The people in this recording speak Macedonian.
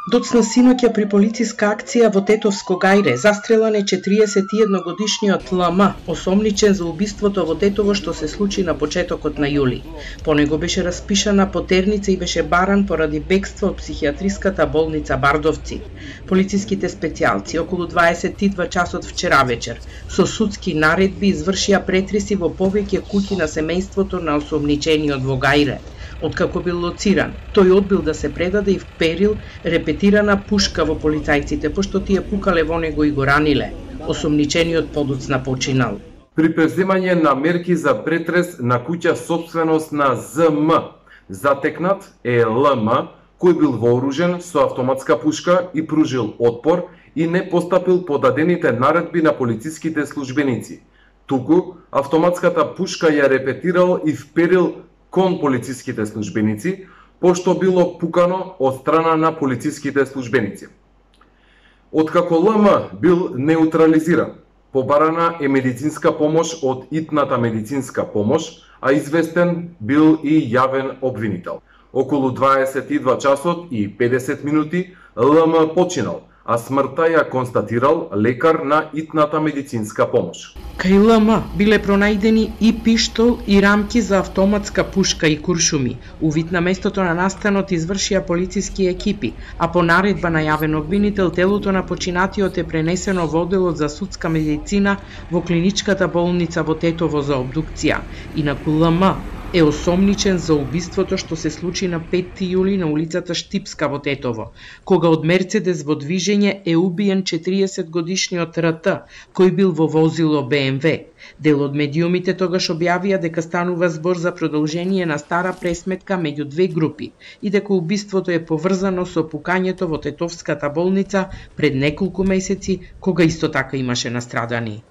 Доцна синоќа при полициска акција во Тетовско Гајре застрелан е 41-годишниот ЛМ, осомничен за убиството во Тетово што се случи на почетокот на јули. По него беше распишана потерница и беше баран поради бегство од психијатриската болница Бардовци. Полициските специјалци околу 22 часот вчера вечер со судски наредби извршија претреси во повеќе куќи на семејството на осомничениот во Гајре. Откако бил лоциран, тој одбил да се предаде и вперил репетирана пушка во полицајците, пошто тие пукале во него и го раниле. Осомничениот подоцна починал. При преземање на мерки за претрес на куќа сопственост на ЗМ, затекнат е ЛМ, кој бил вооружен со автоматска пушка и пружил отпор и не постапил по дадените наредби на полициските службеници. Туку, автоматската пушка ја репетирал и вперил кон полициските службеници, пошто било пукано од страна на полициските службеници. Откако ЛМ бил неутрализиран, побарана е медицинска помош од итната медицинска помош, а известен бил и јавен обвинител. Околу 22 часот и 50 минути ЛМ починал, а смртта ја констатирал лекар на итната медицинска помош. Кај ЛМ биле пронајдени и пиштол и рамки за автоматска пушка и куршуми. Увид на местото на настанот извршија полициски екипи, а по наредба на јавен обвинител телото на починатиот е пренесено во одделот за судска медицина во клиничката болница во Тетово за обдукција. Инаку ЛМ е осомничен за убиството што се случи на 5 јули на улицата Штипска во Тетово, кога од Мерцедес во движење е убиен 40-годишниот РТ, кој бил во возило БМВ. Дел од медиумите тогаш објавија дека станува збор за продолжение на стара пресметка меѓу две групи и дека убиството е поврзано со пукањето во Тетовската болница пред неколку месеци, кога исто така имаше настрадани.